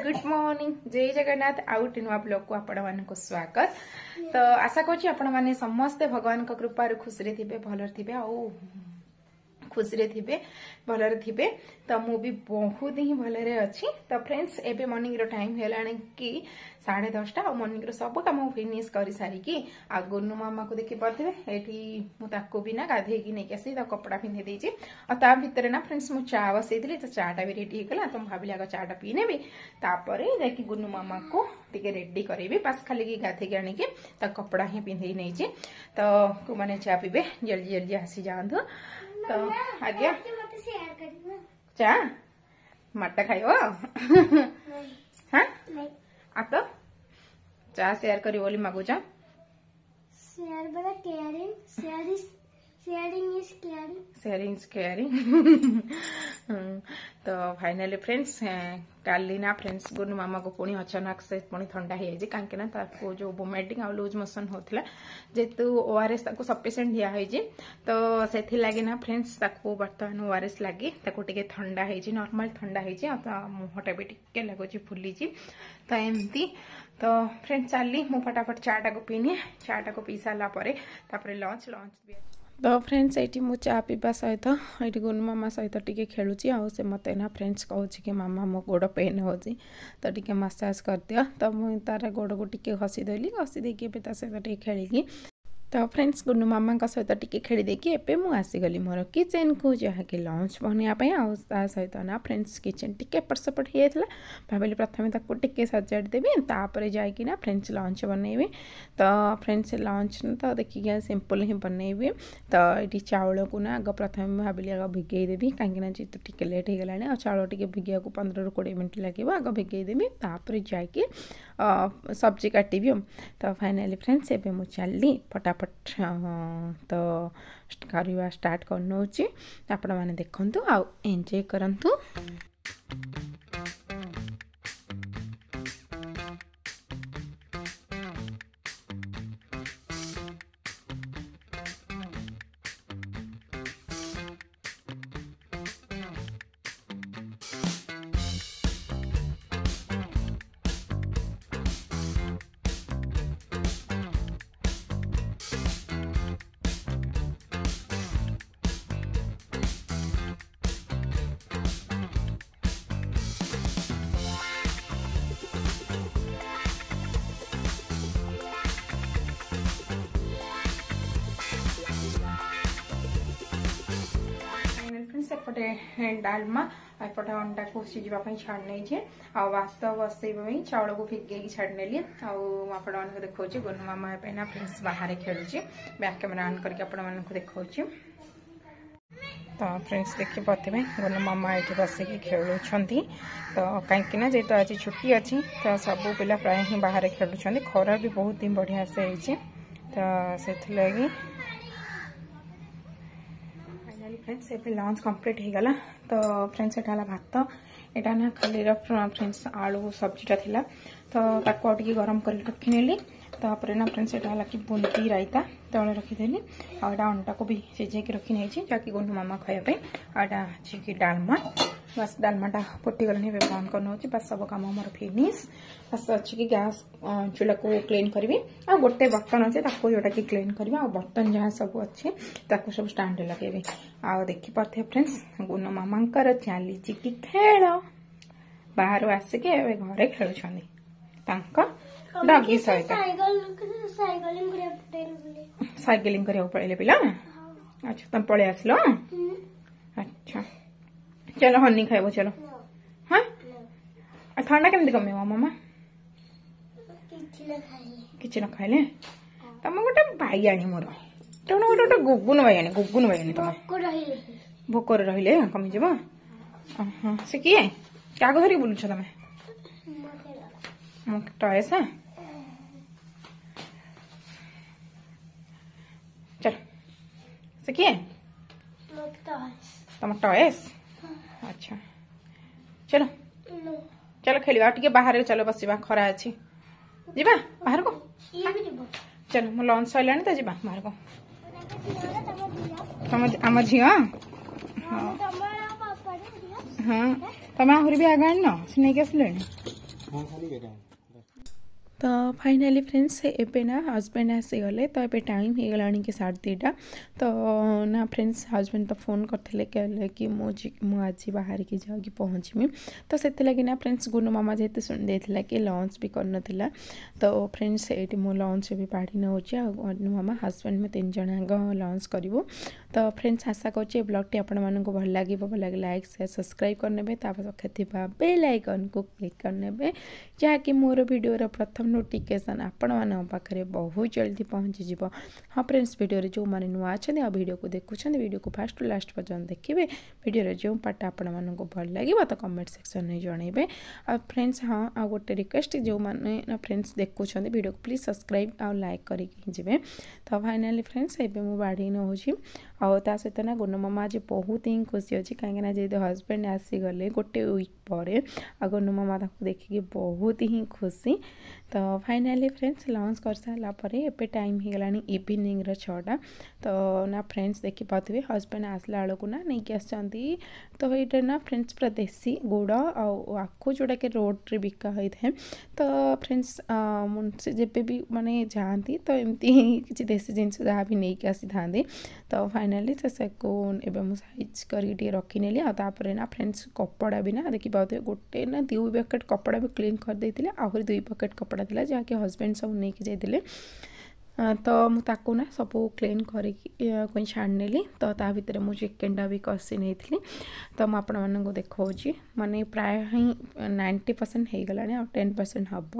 Good morning, ଜୟ ଜଗନ୍ନାଥ। ଆଉ ଗୋଟେ ନୂଆ ବ୍ଲଗକୁ ଆପଣମାନଙ୍କୁ ସ୍ୱାଗତ। ତ ଆଶା କରୁଛି ଆପଣମାନେ ସମସ୍ତେ ଭଗବାନଙ୍କ କୃପାରୁ ଖୁସିରେ ଥିବେ, ଭଲରେ ଥିବେ ଆଉ ଖୁସିରେ ଥିବେ, ଭଲରେ ଥିବେ। ତ ମୁଁ ବି ବହୁତ ହିଁ ଭଲରେ ଅଛି। ତ ଫ୍ରେଣ୍ଡସ୍, ଏବେ ମର୍ଣ୍ଣିଂର ଟାଇମ୍ ହେଲାଣି କି 10:30। ଆଉ ମର୍ଣ୍ଣିଂର ସବୁ କାମ ଫିନିଶ କରିସାରିକି ଆଉ ଗୁନୁ ମାମାକୁ ଦେଖିପାରୁଥିବେ ଏଠି, ମୁଁ ତାକୁ ବି ନା ଗାଧେଇକି ନେଇକି ଆସି ତା କପଡ଼ା ପିନ୍ଧେଇ ଦେଇଛି। ଆଉ ତା ଭିତରେ ନା ଫ୍ରେଣ୍ଡସ୍, ମୁଁ ଚା ବସେଇଥିଲି, ତ ଚାଟା ବି ରେଡି ହେଇଗଲା। ତ ମୁଁ ଭାବିଲି ଆଗ ଚାଟା ପିଇ ନେବି, ତାପରେ ଯାଇକି ଗୁନୁ ମାମାକୁ ଟିକେ ରେଡି କରିବି। ବାସ୍ ଖାଲି ଗାଧେଇକି ଆଣିକି ତା କପଡ଼ା ହିଁ ପିନ୍ଧେଇ ନେଇଛି। ତ କୋଉମାନେ ଚା ପିଇବେ, ଜଲ୍ଦି ଜଲ୍ଦି ଆସିଯାଆନ୍ତୁ। ତ ଆଜ୍ଞା, ଚା ମାଟା ଖାଇବ? ହଁ, ଆଉ ତ ଚା ସେୟାର କରିବ ବୋଲି ମାଗୁଛ। Share by caring. Share is sharing is caring. Sharing is caring. ତ ଫାଇନାଲି ଫ୍ରେଣ୍ଡସ୍, କାଲି ନା ଫ୍ରେଣ୍ଡସ୍ ଗୁନୁ ମାମାକୁ ପୁଣି ଅଚାନକ ସେ ପୁଣି ଥଣ୍ଡା ହେଇଯାଇଛି, କାହିଁକି ନା ତାକୁ ଯୋଉ ଭୋମିଟିଂ ଆଉ ଲୁଜ୍ ମୋସନ୍ ହଉଥିଲା। ଯେହେତୁ ଓଆରଏସ୍ ତାକୁ ସଫିସିଏଣ୍ଟ ଦିଆହେଇଛି, ତ ସେଥିଲାଗି ନା ଫ୍ରେଣ୍ଡସ୍ ତାକୁ ବର୍ତ୍ତମାନ ଓଆରଏସ୍ ଲାଗି ତାକୁ ଟିକେ ଥଣ୍ଡା ହେଇଛି, ନର୍ମାଲ ଥଣ୍ଡା ହେଇଛି। ଆଉ ତା ମୁହଁଟା ବି ଟିକେ ଲାଗୁଛି ଫୁଲିଛି। ତ ଏମିତି ତ ଫ୍ରେଣ୍ଡ ଚାଲି ମୁଁ ଫଟାଫଟ ଚାଟାକୁ ପିଇନିଏ। ଚାଟାକୁ ପିଇ ସାରିଲା ପରେ ତାପରେ ଲଞ୍ଚ ଲଞ୍ଚ। ତ ଫ୍ରେଣ୍ଡସ୍, ଏଇଠି ମୁଁ ଚା ପିଇବା ସହିତ ଏଇଠି ଗୁନୁ ମାମା ସହିତ ଟିକେ ଖେଳୁଛି। ଆଉ ସେ ମୋତେ ନା ଫ୍ରେଣ୍ଡସ୍ କହୁଛି କି ମାମା, ମୋ ଗୋଡ଼ ପେନ୍ ହେଉଛି, ତ ଟିକେ ମସାଜ କରିଦିଅ। ତ ମୁଁ ତାର ଗୋଡ଼କୁ ଟିକେ ଘଷି ଦେଲି। ଘଷି ଦେଇକି ଏବେ ତା ସହିତ ଟିକେ ଖେଳିକି, ତ ଫ୍ରେଣ୍ଡସ୍ ଗୁନୁ ମାମାଙ୍କ ସହିତ ଟିକେ ଖେଳି ଦେଇକି ଏବେ ମୁଁ ଆସିଗଲି ମୋର କିଚେନ୍କୁ, ଯାହାକି ଲଞ୍ଚ ବନେଇବା ପାଇଁ। ଆଉ ତା ସହିତ ନା ଫ୍ରେଣ୍ଡସ୍ କିଚେନ୍ ଟିକେ ଏପଟ ସେପଟ ହେଇଯାଇଥିଲା, ଭାବିଲି ପ୍ରଥମେ ତାକୁ ଟିକେ ସଜାଡ଼ି ଦେବି, ତାପରେ ଯାଇକି ନା ଫ୍ରେଣ୍ଡସ୍ ଲଞ୍ଚ ବନେଇବି। ତ ଫ୍ରେଣ୍ଡସ୍, ଲଞ୍ଚ ତ ଦେଖିକି ସିମ୍ପଲ୍ ହିଁ ବନେଇବି। ତ ଏଇଠି ଚାଉଳକୁ ନା ଆଗ ପ୍ରଥମେ ମୁଁ ଭାବିଲି ଆଗ ଭିଗେଇ ଦେବି, କାହିଁକିନା ଯେହେତୁ ଟିକେ ଲେଟ୍ ହେଇଗଲାଣି ଆଉ ଚାଉଳ ଟିକେ ଭିଗେଇବାକୁ 15ରୁ 20 ମିନିଟ୍ ଲାଗିବ। ଆଗ ଭିଗେଇ ଦେବି, ତାପରେ ଯାଇକି ସବଜି କାଟିବି। ତ ଫାଇନାଲି ଫ୍ରେଣ୍ଡସ୍, ଏବେ ମୁଁ ଚାଲିଲି ଫଟାଫଟ ତ କରିବା ଷ୍ଟାର୍ଟ କରିନେଉଛି। ଆପଣମାନେ ଦେଖନ୍ତୁ ଆଉ ଏନ୍ଜୟ କରନ୍ତୁ। ସେପଟେ ଡାଲମା, ଏପଟେ ଅଣ୍ଡାକୁ ସିଝିବା ପାଇଁ ଛାଡ଼ି ନେଇଛି, ଆଉ ଭାତ ବସେଇବା ପାଇଁ ଚାଉଳକୁ ଭିଗେଇକି ଛାଡ଼ି ନେଲି। ଆଉ ମୁଁ ଆପଣମାନଙ୍କୁ ଦେଖାଉଛି, ଗୁନୁ ମାମା ଏବେ ନା ଫ୍ରେଣ୍ଡସ୍ ବାହାରେ ଖେଳୁଛି। ବ୍ୟାକ୍ କ୍ୟାମେରା ଅନ୍ କରିକି ଆପଣମାନଙ୍କୁ ଦେଖାଉଛି। ତ ଫ୍ରେଣ୍ଡସ୍, ଦେଖିପାରୁଥିବେ ଗୁନୁ ମାମା ଏଇଠି ବସିକି ଖେଳୁଛନ୍ତି। ତ କାହିଁକି ନା ଯେହେତୁ ଆଜି ଛୁଟି ଅଛି, ତ ସବୁ ପିଲା ପ୍ରାୟ ହିଁ ବାହାରେ ଖେଳୁଛନ୍ତି। ଖରା ବି ବହୁତ ହିଁ ବଢ଼ିଆ ସେ ହେଇଛି, ତ ସେଥିଲାଗି। ଫାଇନାଲି ଫ୍ରେଣ୍ଡସ୍, ଏବେ ଲଞ୍ଚ କମ୍ପ୍ଲିଟ୍ ହେଇଗଲା। ତ ଫ୍ରେଣ୍ଡସ୍, ଏଇଟା ହେଲା ଭାତ, ଏଇଟା ନା ଖାଲିର ଫ୍ରେଣ୍ଡସ୍ ଆଳୁ ସବଜିଟା ଥିଲା, ତ ତାକୁ ଆଉ ଟିକେ ଗରମ କରିକି ରଖିନେଲି। ତାପରେ ନା ଫ୍ରେଣ୍ଡସ୍, ଏଇଟା ହେଲା କି ବୁନ୍ଦି ରାଇତା ତଳେ ରଖିଦେଲି। ଆଉ ଏଇଟା ଅଣ୍ଡାକୁ ବି ସିଝେଇକି ରଖି ନେଇଛି, ଯାହାକି ଗୁନୁ ମାମା ଖାଇବା ପାଇଁ। ଆଉ ଏଇଟା ଅଛି କି ଡାଲମା। ବାସ୍, ଡାଲମାଟା ଫୁଟିଗଲାଣି, ଏବେ ବନ୍ଦ କରିନେଉଛି। ବାସ୍, ସବୁ କାମ ମୋର ଫିନିଶ। ବାସ୍ ଅଛି କି ଗ୍ୟାସ୍ ଚୁଲାକୁ କ୍ଲିନ୍ କରିବି, ଆଉ ଗୋଟେ ବର୍ତ୍ତନ ଅଛି ତାକୁ ଯୋଉଟାକି କ୍ଲିନ୍ କରିବି, ଆଉ ବର୍ତ୍ତନ ଯାହା ସବୁ ଅଛି ତାକୁ ସବୁ ଷ୍ଟାଣ୍ଡରେ ଲଗେଇବି। ଆଉ ଦେଖିପାରୁଥିବେ ଫ୍ରେଣ୍ଡସ୍, ଗୁନୁ ମାମାଙ୍କର ଚାଲିଛି କି ଖେଳ। ବାହାରୁ ଆସିକି ଏବେ ଘରେ ଖେଳୁଛନ୍ତି ତାଙ୍କ ଡଗି ସହିତ। ସାଇକେଲିଂ କରିବାକୁ ପଳେଇଲେ ପିଲା। ଆଚ୍ଛା, ତମେ ପଳେଇ ଆସିଲ? ଆଚ୍ଛା, ଚାଲ ହନି ଖାଇବ, ଚାଲ। ହଁ, ଥଣ୍ଡା କେମିତି କମିବ ମାମା କିଛି ନ ଖାଇଲେ? ତମ ଗୋଟେ ବାଇଆଣୀ ମୋର, ତମେ ଗୋଟେ ଗୋଟେ ଗୁଗୁନ ବାଇଆଣୀ, ଗୁଗୁନ ବାଇଆଣୀ। ତମେ ଭୋକରେ ରହିଲେ କମିଯିବ। ହଁ, ସେ କିଏ, କାହାକୁ ଧରିକି ବୁଲୁଛ ତମେ? ଟଏସ୍। ଚାଲ, ସେ କିଏ? ତମ ଟଏସ୍? ଆଚ୍ଛା, ଚલો ଚାଲ ଖେଳିବା ଟିକେ ବାହାରେ, ଚାଲ ବସିବା, ଖରା ଅଛି, ଯିବା ବାହାରକୁ। ଚାଲ, ମୋ ଲଞ୍ଚ ସରିଲାଣି ତ, ଯିବା ବାହାରକୁ। ତମ ଆମ ଝିଅ, ହଁ, ତମେ ଆହୁରି ବି ଆଗ ଆଣିନ, ସେ ନେଇକି ଆସିଲେଣି। ତ ଫାଇନାଲି ଫ୍ରେଣ୍ଡସ୍, ଏବେ ନା ହଜବେଣ୍ଡ ଆସିଗଲେ। ତ ଏବେ ଟାଇମ୍ ହେଇଗଲାଣି କି 2:30। ତ ନା ଫ୍ରେଣ୍ଡସ୍, ହଜବେଣ୍ଡ ତ ଫୋନ୍ କରିଥିଲେ, କହିଲେ କି ମୁଁ ଆଜି ବାହାରିକି ଯାଉକି ପହଞ୍ଚିମି। ତ ସେଥିଲାଗି ନା ଫ୍ରେଣ୍ଡସ୍, ଗୁନୁ ମାମା ଯେହେତୁ ଶୁଣି ଦେଇଥିଲା କି ଲଞ୍ଚ ବି କରିନଥିଲା, ତ ଫ୍ରେଣ୍ଡସ୍, ଏଇଠି ମୁଁ ଲଞ୍ଚ ବି ବାଢ଼ି ନେଉଛି ଆଉ ଗୁନୁ ମାମା, ହଜବେଣ୍ଡ, ମୁଁ ତିନି ଜଣ ଯାକ ଲଞ୍ଚ କରିବୁ। ତ ଫ୍ରେଣ୍ଡସ୍, ଆଶା କରୁଛି ଏ ବ୍ଲଗ୍ଟି ଆପଣମାନଙ୍କୁ ଭଲ ଲାଗିବ। ଭଲ ଲାଗିଲେ ଲାଇକ୍, ସେୟାର, ସବସ୍କ୍ରାଇବ୍ କରିନେବେ, ତା ପାଖରେ ଥିବା ବେଲ୍ ଆଇକନ୍କୁ କ୍ଲିକ୍ କରିନେବେ, ଯାହାକି ମୋର ଭିଡ଼ିଓର ପ୍ରଥମ ନୋଟିଫିକେସନ୍ ଆପଣମାନଙ୍କ ପାଖରେ ବହୁତ ଜଲ୍ଦି ପହଞ୍ଚିଯିବ। ହଁ ଫ୍ରେଣ୍ଡସ୍, ଭିଡ଼ିଓରେ ଯେଉଁମାନେ ନୂଆ ଅଛନ୍ତି ଆଉ ଭିଡ଼ିଓକୁ ଦେଖୁଛନ୍ତି, ଭିଡ଼ିଓକୁ ଫାଷ୍ଟ ଟୁ ଲାଷ୍ଟ ପର୍ଯ୍ୟନ୍ତ ଦେଖିବେ। ଭିଡ଼ିଓର ଯେଉଁ ପାର୍ଟଟା ଆପଣମାନଙ୍କୁ ଭଲ ଲାଗିବ ତ କମେଣ୍ଟ ସେକ୍ସନରେ ଜଣାଇବେ। ଆଉ ଫ୍ରେଣ୍ଡସ୍, ହଁ, ଆଉ ଗୋଟେ ରିକ୍ୱେଷ୍ଟ, ଯେଉଁମାନେ ଫ୍ରେଣ୍ଡସ୍ ଦେଖୁଛନ୍ତି ଭିଡ଼ିଓକୁ, ପ୍ଲିଜ୍ ସବସ୍କ୍ରାଇବ୍ ଆଉ ଲାଇକ୍ କରିକି ଯିବେ। ତ ଫାଇନାଲି ଫ୍ରେଣ୍ଡସ୍, ଏବେ ମୁଁ ବାଢ଼ି ନେଉଛି। ଆଉ ତା ସହିତ ନା ଗୁନୁ ମାମା ଆଜି ବହୁତ ହିଁ ଖୁସି ଅଛି, କାହିଁକିନା ଯେହେତୁ ହଜବେଣ୍ଡ ଆସିଗଲେ ଗୋଟେ ୱିକ୍ ପରେ, ଆଉ ଗୁନୁ ମାମା ତାକୁ ଦେଖିକି ବହୁତ ହିଁ ଖୁସି। ତ ଫାଇନାଲି ଫ୍ରେଣ୍ଡସ୍, ଲଞ୍ଚ କରିସାରିଲା ପରେ ଏବେ ଟାଇମ୍ ହେଇଗଲାଣି ଇଭିନିଂର 6ଟା। ତ ନା ଫ୍ରେଣ୍ଡସ୍, ଦେଖିପାରୁଥିବେ ହଜବେଣ୍ଡ ଆସିଲା ବେଳକୁ ନା ନେଇକି ଆସିଛନ୍ତି। ତ ଏଇଟା ନା ଫ୍ରେଣ୍ଡସ୍, ପୁରା ଦେଶୀ ଗୁଡ଼ ଆଉ ଆଖୁ, ଯେଉଁଟାକି ରୋଡ଼ରେ ବିକା ହୋଇଥାଏ। ତ ଫ୍ରେଣ୍ଡସ୍, ସେ ଯେବେ ବି ମାନେ ଯାଆନ୍ତି ତ ଏମିତି ହିଁ କିଛି ଦେଶୀ ଜିନିଷ ଯାହା ବି ନେଇକି ଆସିଥାନ୍ତି। ତ ଫାଇନାଲି ସେକୁ ଏବେ ମୁଁ ସାଇଜ୍ କରିକି ଟିକେ ରଖିନେଲି। ଆଉ ତାପରେ ନା ଫ୍ରେଣ୍ଡସ୍, କପଡ଼ା ବି ନା ଦେଖିପାରୁଥିବେ, ଗୋଟେ ନା ଦୁଇ ପ୍ୟାକେଟ୍ କପଡ଼ା ବି କ୍ଲିନ୍ କରିଦେଇଥିଲେ। ଆହୁରି ଦୁଇ ପ୍ୟାକେଟ୍ କପଡ଼ା ଥିଲା, ଯାହାକି ହଜବେଣ୍ଡ ସବୁ ନେଇକି ଯାଇଥିଲେ। ତ ମୁଁ ତାକୁ ନା ସବୁ କ୍ଲିନ୍ କରିକି ଛାଣିନେଲି। ତ ତା ଭିତରେ ମୁଁ ଚିକେନଟା ବି କଷି ନେଇଥିଲି। ତ ମୁଁ ଆପଣମାନଙ୍କୁ ଦେଖାଉଛି, ମାନେ ପ୍ରାୟ ହିଁ 90% ହେଇଗଲାଣି, ଆଉ 10% ହେବ।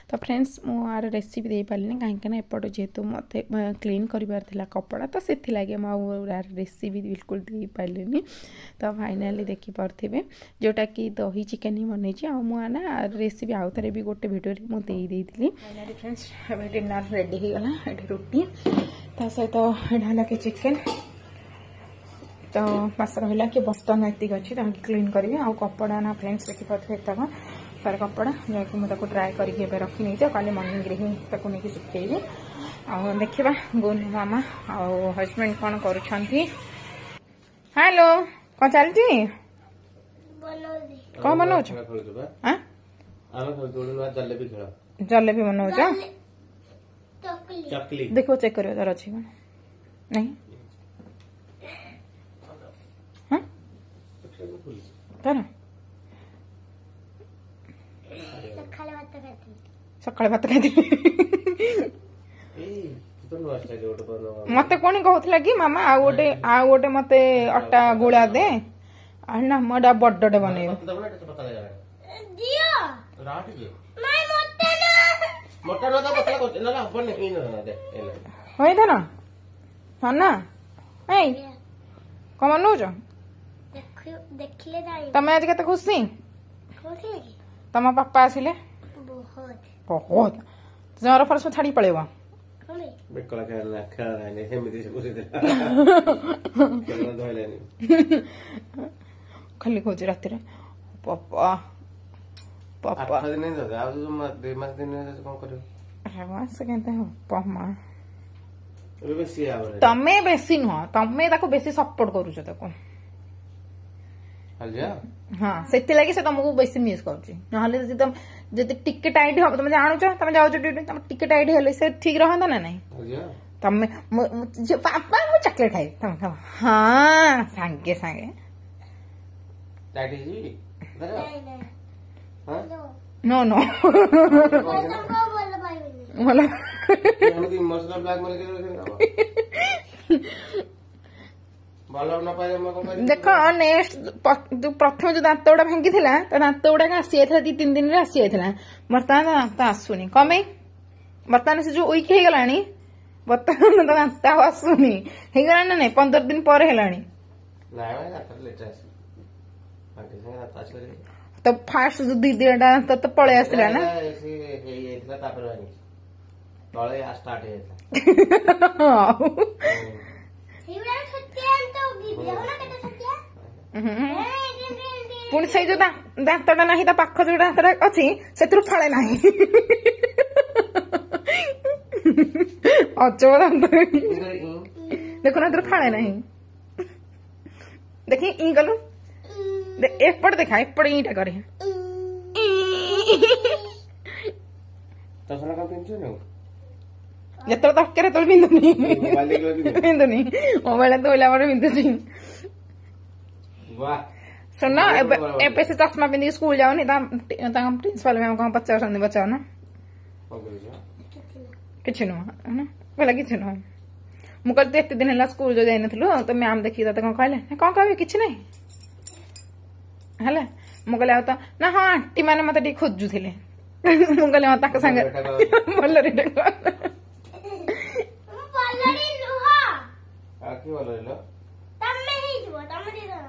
ତ ଫ୍ରେଣ୍ଡସ୍, ମୁଁ ଆର ରେସିପି ଦେଇପାରିଲିନି, କାହିଁକିନା ଏପଟେ ଯେହେତୁ ମୋତେ କ୍ଲିନ୍ କରିବାର ଥିଲା କପଡ଼ା, ତ ସେଥିଲାଗି ମୁଁ ଆଉ ଆର ରେସିପି ବିଲକୁଲ ଦେଇପାରିଲିନି। ତ ଫାଇନାଲି ଦେଖିପାରୁଥିବେ, ଯେଉଁଟାକି ଦହି ଚିକେନ୍ ହିଁ ବନେଇଛି। ଆଉ ମୁଁ ନା ରେସିପି ଆଉ ଥରେ ବି ଗୋଟେ ଭିଡ଼ିଓରେ ମୁଁ ଦେଇ ଦେଇଥିଲି। ଫାଇନାଲି ଫ୍ରେଣ୍ଡସ୍, ଏବେ ଡିନର୍ ରେଡ଼ି ହେଇଗଲା। ଏଠି ରୁଟି, ତା ସହିତ ଏଇଟା ହେଲା କି ଚିକେନ୍। ତ ବାସ ରହିଲା କି ବର୍ତ୍ତନ ଏତିକି ଅଛି, ତାକୁ କ୍ଲିନ୍ କରିବି। ଆଉ କପଡ଼ା ନା ଫ୍ରେଣ୍ଡସ୍, ଦେଖିପାରୁଥିବେ ଏତକ ତାର କପଡ଼ା, ଯାହାକି ମୁଁ ତାକୁ ଡ୍ରାଏ କରିକି ଏବେ ରଖି ନେଇଛି, ଆଉ କାଲି ମର୍ଣ୍ଣିଂରେ ହିଁ ତାକୁ ନେଇକି ଶୁଖେଇବି। ଆଉ ଦେଖିବା ଗୁନୁ ମାମା ଆଉ ହଜବେଣ୍ଡ କ'ଣ କରୁଛନ୍ତି। ହ୍ୟାଲୋ, କ'ଣ ଚାଲିଛି? କ'ଣ ବନଉଛ? ଜଲେବି ବନଉଛ? ଦେଖିବ, ଚେକ୍ କରିବ ତାର ଅଛି କ'ଣ ନାଇଁ। ତାର ସକାଳେ ଭାତ ଖାଇଥିଲି। ମତେ ପୁଣି କହୁଥିଲା କି ମାମା, ଆଉ ଗୋଟେ ମତେ ଅଟା ଗୁଳା ଦେ ନା, ମୁଁ ଏଟା ବଡଟେ ବନେଇବି। ହଇ ଧନ, ଧନ, ଏଇ କଣ ବନଉଛ ତମେ? ଆଜି କେତେ ଖୁସି ତମ ବାପା ଆସିଲେ? ବହୁତ। ଜର ଫର ସବୁ ଛାଡିକି ପଳେଇବ। ବେକଳା ଖେଳ ଖେଳ ନାହିଁ, ସେମିତି ସେ ବସେଇଦେଲା, ଧଇଲାନି। ଖାଲି କହୁଛି ରାତିରେ ପପା ପପା। 8 ଦିନ ଆଉ 2 ମାସ ଦିନ କଣ କରିବ? ମାସ କେମିତି ହବ ମା? ଏବେ ବେଶୀ। ତମେ ବେଶୀ ନୁହଁ, ତମେ ତାକୁ ବେଶୀ ସପୋର୍ଟ କରୁଛ ତାକୁ। ହଁ, ସେଥିଲାଗି ସେ ତମକୁ ବେଶୀ ମିସ୍ କରୁଛି। ନହେଲେ ଯଦି ତମେ ଯଦି ଟିକେ ଟାଇଟ୍ ହବ, ତମେ ଜାଣୁଛ, ତମେ ଯାଉଛ ଡ୍ୟୁଟି, ତମେ ଟିକେ ଟାଇଟ୍ ହେଲେ ସେ ଠିକ ରହନ୍ତା ନା ନାଇଁ? ତମେ ବାପା ମୁଁ ଚକୋଲେଟ ଖାଇବି, ତମେ ଖାଅ। ହଁ, ସାଙ୍ଗେ ସାଙ୍ଗେ ନୋ ନୋ ଭଲ। ଦେଖ, ନେକ୍ସଟ ପ୍ରଥମେ ଯୋଉ ଦାନ୍ତ ଗୁଡା ଭାଙ୍ଗିଥିଲା, ତା ଦାନ୍ତ ଗୁଡାକ ଆସିଯାଇଥିଲା, 2-3 ଦିନରେ ଆସିଯାଇଥିଲା। ବର୍ତ୍ତମାନ ତା ଦାନ୍ତ ଆସୁନି। କଣ ପାଇଁ? ବର୍ତ୍ତମାନ ସେ ଯୋଉ ୱିକ୍ ହେଇଗଲାଣି, ବର୍ତ୍ତମାନ ତା ଦାନ୍ତ ଆଉ ଆସୁନି। ହେଇଗଲାଣି ନା ନାଇଁ? 15 ଦିନ ପରେ ହେଲାଣି। ତ ଫାଷ୍ଟ ଯୋଉ ଦି ଦିନଟା ଦାନ୍ତ ତ ପଳେଇ ଆସିଲା ନା? ହେଇଯାଇଥିଲା, ତାପରେ ଭାଙ୍ଗିଛି, ତଳେ ଷ୍ଟାର୍ଟ ହେଇଯାଇଥିଲା। ଦେଖୁନ କେତେ ଛୋଟିଆ। ପୁଣି ସେଇ ଯୋଉ ଦାନ୍ତଟା ନାହିଁ, ତା ପାଖ ଯୋଉ ଦାନ୍ତଟା ଅଛି ସେଥିରୁ ଫାଳେ ନାହିଁ। ଅଜବ ଦାନ୍ତ ଦେଖୁନ, ଏଥିରୁ ଫାଳେ ନାହିଁ। ଦେଖି ଇ କଲୁ, ଏପଟେ ଦେଖା, ଏପଟେ ଇଟା କରେ। ଚଷମା କଣ ପିନ୍ଧୁଛୁ? ଯେତେବେଳେ ଦରକାର ସେତେବେଳେ ପିନ୍ଧୁନି। ମୋବାଇଲ ଦେଖିଲେ ପିନ୍ଧୁନି। ପିନ୍ଧୁନି, ମୋବାଇଲ ଧୋଇଲା ପରେ ପିନ୍ଧୁଛି। ବାহ। ଶୁଣ, ଏବେ ସେ ଚଷମା ପିନ୍ଧିକି ସ୍କୁଲ ଯାଉନି। ତାଙ୍କ ପ୍ରିନ୍ସିପାଲ ମ୍ୟାମ କଣ ପଚାରୁଛନ୍ତି, ପଚାରୁନ। କଣ କରୁଛ? କିଛି ନୁହଁ ନା, କହିଲା କିଛି ନୁହଁ। ମୁଁ କହିଲି ତୁ ଏତେ ଦିନ ହେଲା ସ୍କୁଲ ଯୋଉ ଯାଇନଥିଲୁ, ତ ମ୍ୟାମ ଦେଖିକି ତତେ କଣ କହିଲେ? ନା, କଣ କହିବେ, କିଛି ନାହିଁ। ହେଲା, ମୁଁ କହିଲି ଆଉ ତ ନା, ହଁ, ଆଣ୍ଟି ମାନେ ମତେ ଟିକେ ଖୋଜୁଥିଲେ। ମୁଁ କହିଲି ହଁ, ତାଙ୍କ ସାଙ୍ଗରେ ଭଲରେ ଡାକ। ମୁଁ ଭଲରେ ନୁହଁ। ଆଉ କି ଭଲ ରହିଲ? ତମେ ହେଇଯିବ, ତମେ ଦି ଜଣ।